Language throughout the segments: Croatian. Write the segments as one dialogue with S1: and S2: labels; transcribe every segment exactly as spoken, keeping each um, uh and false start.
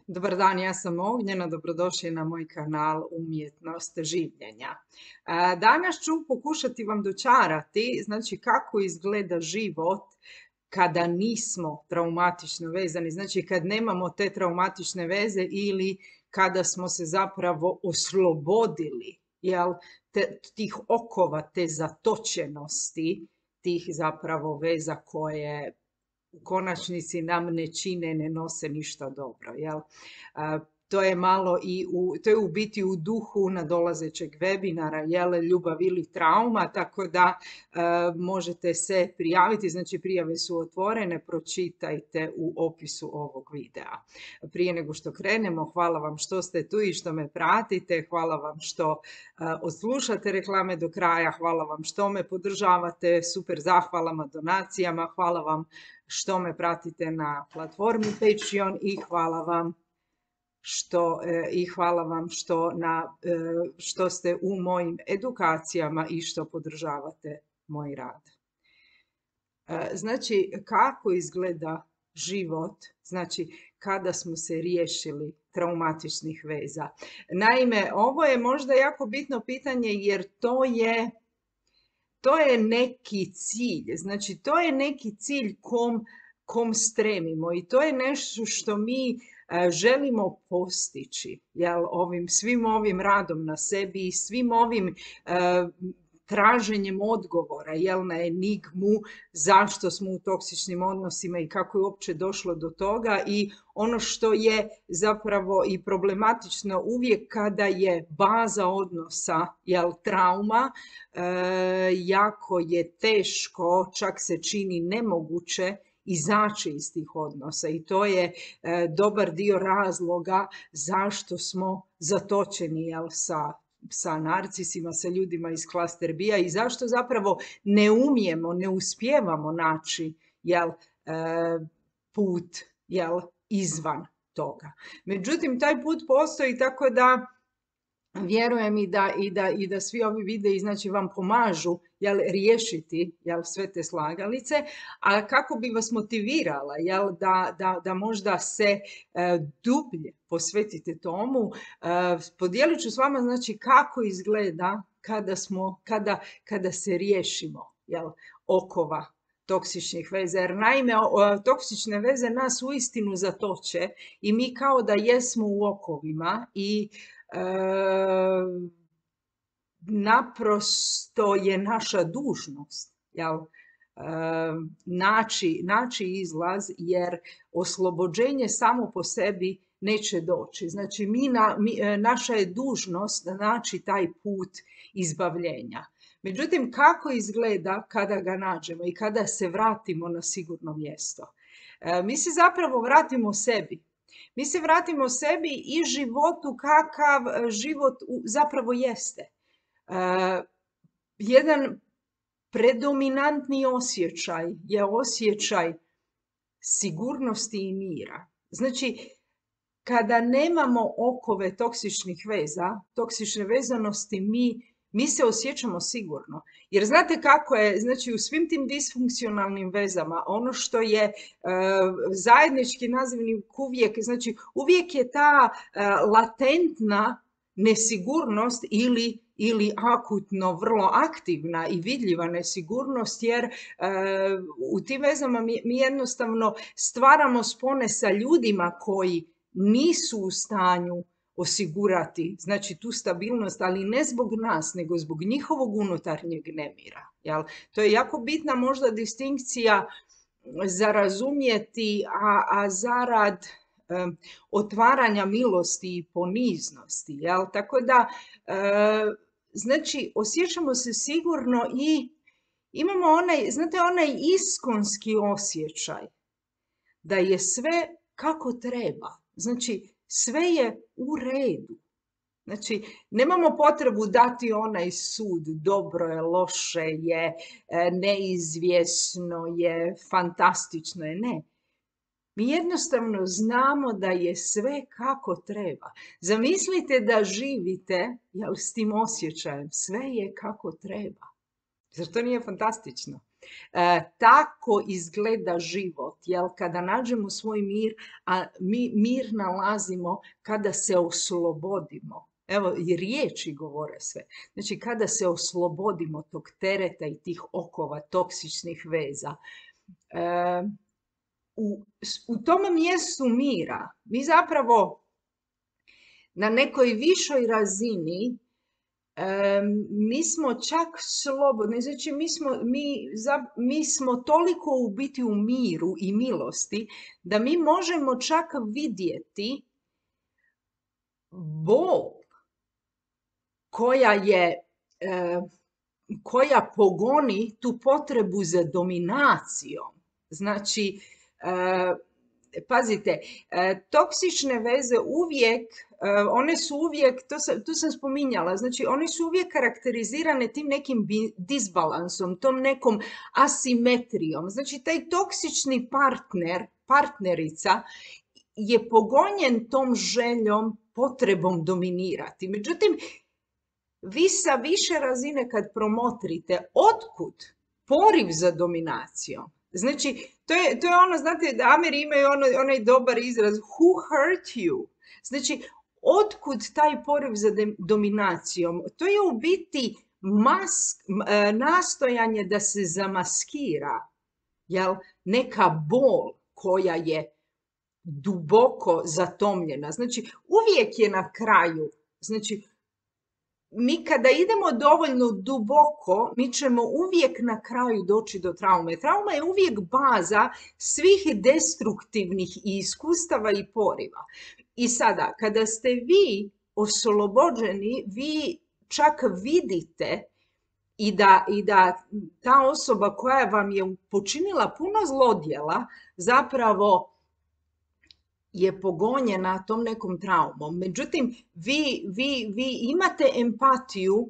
S1: Dobar dan, ja sam Ognjena, dobrodošli na moj kanal Umjetnost življenja. E, Danas ću pokušati vam dočarati, znači kako izgleda život kada nismo traumatično vezani, znači kad nemamo te traumatične veze ili kada smo se zapravo oslobodili, jel, te, tih okova, te zatočenosti, tih zapravo veza koje u konačnici nam ne čine, ne nose ništa dobro. Jel? A, to je malo i u, to je u biti u duhu nadolazećeg webinara, jel, ljubav ili trauma, tako da a, možete se prijaviti, znači prijave su otvorene, pročitajte u opisu ovog videa. Prije nego što krenemo, hvala vam što ste tu i što me pratite, hvala vam što a, odslušate reklame do kraja, hvala vam što me podržavate, super zahvalama, donacijama, hvala vam što me pratite na platformi Patreon i hvala vam što, e, i hvala vam što, na, e, što ste u mojim edukacijama i što podržavate moj rad. E, znači, kako izgleda život, znači kada smo se riješili traumatičnih veza. Naime, ovo je možda jako bitno pitanje jer to je To je neki cilj, znači to je neki cilj kom, kom stremimo i to je nešto što mi e, želimo postići, jel, ovim, svim ovim radom na sebi i svim ovim e, traženjem odgovora, jel, na enigmu zašto smo u toksičnim odnosima i kako je uopće došlo do toga i ono što je zapravo i problematično uvijek kada je baza odnosa, jel, trauma, e, jako je teško, čak se čini nemoguće izaći iz tih odnosa i to je e, dobar dio razloga zašto smo zatočeni, jel, sa sa narcisima, sa ljudima iz klaster B-a i zašto zapravo ne umijemo, ne uspijevamo naći, jel, e, put, jel, izvan toga. Međutim, taj put postoji, tako da vjerujem i da, i da, i da svi ovi videi, znači, vam pomažu, jel, riješiti, jel, sve te slagalice, a kako bi vas motivirala, jel, da, da, da možda se e, dublje posvetite tomu, e, podijelit ću s vama, znači, kako izgleda kada, smo, kada, kada se riješimo, jel, okova toksičnih veza, jer naime toksične veze nas uistinu zatoče i mi kao da jesmo u okovima i e, naprosto je naša dužnost, jel, e, naći, naći izlaz, jer oslobođenje samo po sebi neće doći. Znači, mi na, mi, naša je dužnost naći taj put izbavljenja. Međutim, kako izgleda kada ga nađemo i kada se vratimo na sigurno mjesto? E, mi se zapravo vratimo sebi. Mi se vratimo sebi i životu kakav život zapravo jeste. E, jedan predominantni osjećaj je osjećaj sigurnosti i mira. Znači, kada nemamo okove toksičnih veza, toksične vezanosti, mi Mi se osjećamo sigurno. Jer znate kako je, znači u svim tim disfunkcionalnim vezama, ono što je e, zajednički nazivnik uvijek, znači uvijek je ta e, latentna nesigurnost ili, ili akutno vrlo aktivna i vidljiva nesigurnost, jer e, u tim vezama mi, mi jednostavno stvaramo spone sa ljudima koji nisu u stanju osigurati, znači, tu stabilnost, ali ne zbog nas, nego zbog njihovog unutarnjeg nemira. Jel? To je jako bitna možda distinkcija za razumjeti, a, a zarad um, otvaranja milosti i poniznosti. Jel? Tako da, uh, znači, osjećamo se sigurno i imamo onaj, znate, onaj iskonski osjećaj da je sve kako treba. Znači, sve je u redu. Znači, nemamo potrebu dati onaj sud, dobro je, loše je, neizvjesno je, fantastično je, ne. Mi jednostavno znamo da je sve kako treba. Zamislite da živite, jel, s tim osjećajem, sve je kako treba. Zar to nije fantastično? E, tako izgleda život jel, kada nađemo svoj mir, a mi mir nalazimo kada se oslobodimo. Evo, i riječi govore sve. Znači, kada se oslobodimo tog tereta i tih okova toksičnih veza, e, u, u tom mjestu mira mi zapravo na nekoj višoj razini e, mi smo čak slobodni, znači mi smo, mi, za, mi smo toliko u biti u miru i milosti da mi možemo čak vidjeti bol koja je, e, koja pogoni tu potrebu za dominacijom. Znači, e, pazite, e, toksične veze uvijek, e, one su uvijek, to sam, tu sam spominjala, znači one su uvijek karakterizirane tim nekim disbalansom, tom nekom asimetrijom. Znači, taj toksični partner, partnerica je pogonjen tom željom, potrebom dominirati. Međutim, vi sa više razine kad promotrite otkud poriv za dominacijom. Znači, to je, to je ono, znate, da Ameri imaju ono, onaj dobar izraz who hurt you. Znači, otkud taj poriv za dominacijom? To je u biti mask, nastojanje da se zamaskira, jel, neka bol koja je duboko zatomljena. Znači, uvijek je na kraju, znači, mi kada idemo dovoljno duboko, mi ćemo uvijek na kraju doći do traume. Trauma je uvijek baza svih destruktivnih iskustava i poriva. I sada, kada ste vi oslobođeni, vi čak vidite i da, i da ta osoba koja vam je počinila puno zlodjela zapravo je pogonjena tom nekom traumom. Međutim, vi, vi, vi imate empatiju,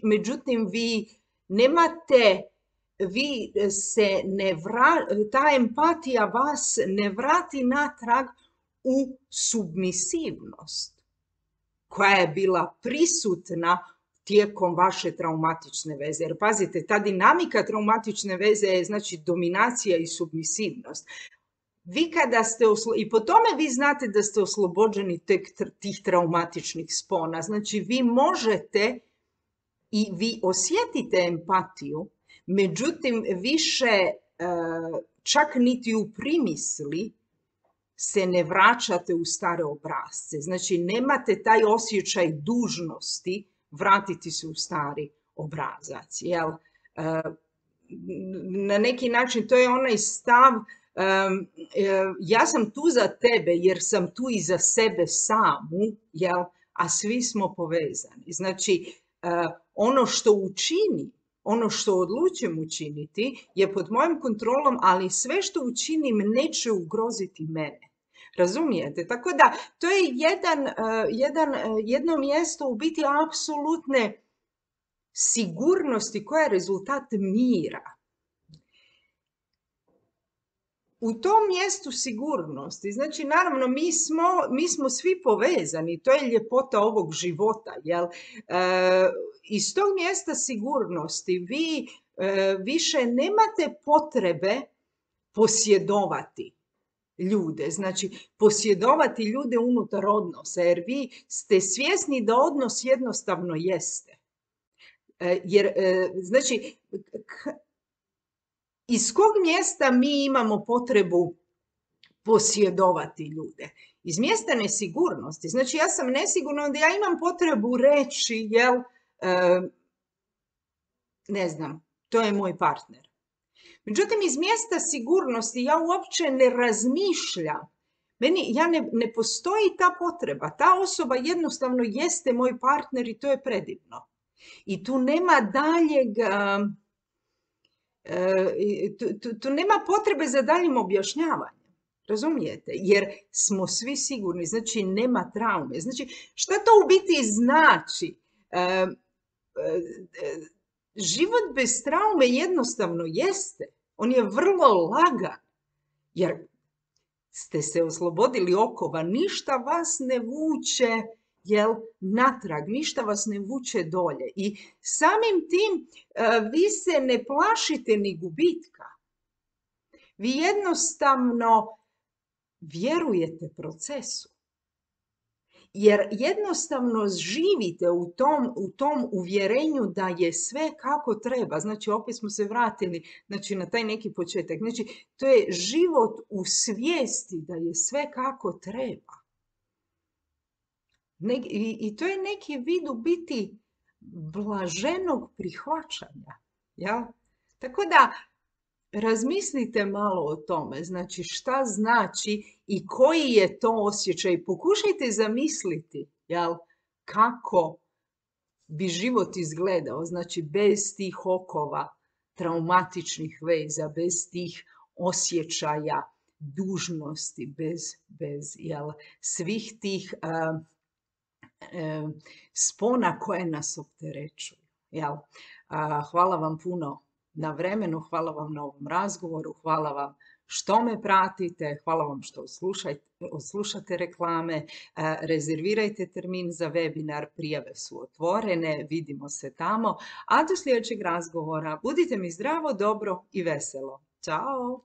S1: međutim, vi nemate, vi se ne vra, ta empatija vas ne vrati natrag u submisivnost koja je bila prisutna tijekom vaše traumatične veze. Jer pazite, ta dinamika traumatične veze je znači dominacija i submisivnost. Vi kada ste, i po tome vi znate da ste oslobođeni tek tih traumatičnih spona. Znači, vi možete i vi osjetite empatiju, međutim, više čak niti u primisli se ne vraćate u stare obrasce. Znači, nemate taj osjećaj dužnosti vratiti se u stari obrazac. Jel? Na neki način to je onaj stav Um, ja sam tu za tebe jer sam tu i za sebe samu, jel? A svi smo povezani. Znači, uh, ono što učini, ono što odlučim učiniti je pod mojom kontrolom, ali sve što učinim neće ugroziti mene. Razumijete? Tako da, to je jedan, uh, jedan, uh, jedno mjesto u biti apsolutne sigurnosti koja je rezultat mira. U tom mjestu sigurnosti, znači naravno mi smo, mi smo svi povezani, to je ljepota ovog života, jel? E, iz tog mjesta sigurnosti vi e, više nemate potrebe posjedovati ljude, znači posjedovati ljude unutar odnosa, jer vi ste svjesni da odnos jednostavno jeste. E, jer, e, znači, k- iz kog mjesta mi imamo potrebu posjedovati ljude? Iz mjesta nesigurnosti. Znači, ja sam nesigurna, onda ja imam potrebu reći, jel, e, ne znam, to je moj partner. Međutim, iz mjesta sigurnosti ja uopće ne razmišljam. Meni, ja ne, ne postoji ta potreba. Ta osoba jednostavno jeste moj partner i to je predivno. I tu nema daljeg... Tu, tu, tu nema potrebe za daljim objašnjavanjem, razumijete? Jer smo svi sigurni, znači nema traume. Znači, šta to u biti znači? E, e, život bez traume jednostavno jeste. On je vrlo lagan, jer ste se oslobodili okova, ništa vas ne vuče, jel, natrag, ništa vas ne vuče dolje. I samim tim vi se ne plašite ni gubitka. Vi jednostavno vjerujete procesu. Jer jednostavno živite u tom, u tom uvjerenju da je sve kako treba. Znači, opet smo se vratili znači, na taj neki početak. Znači, to je život u svijesti da je sve kako treba. Ne, i, I to je neki vid u biti blaženog prihvaćanja. Ja? Tako da, razmislite malo o tome, znači šta znači i koji je to osjećaj. Pokušajte zamisliti, jel, kako bi život izgledao, znači bez tih okova traumatičnih veza, bez tih osjećaja dužnosti, bez, bez jel, svih tih uh, uh, spona koje nas opterećuju. Jel? Uh, hvala vam puno na vremenu, hvala vam na ovom razgovoru, hvala vam što me pratite, hvala vam što odslušate reklame, rezervirajte termin za webinar, prijave su otvorene, vidimo se tamo, a do sljedećeg razgovora budite mi zdravo, dobro i veselo. Ćao!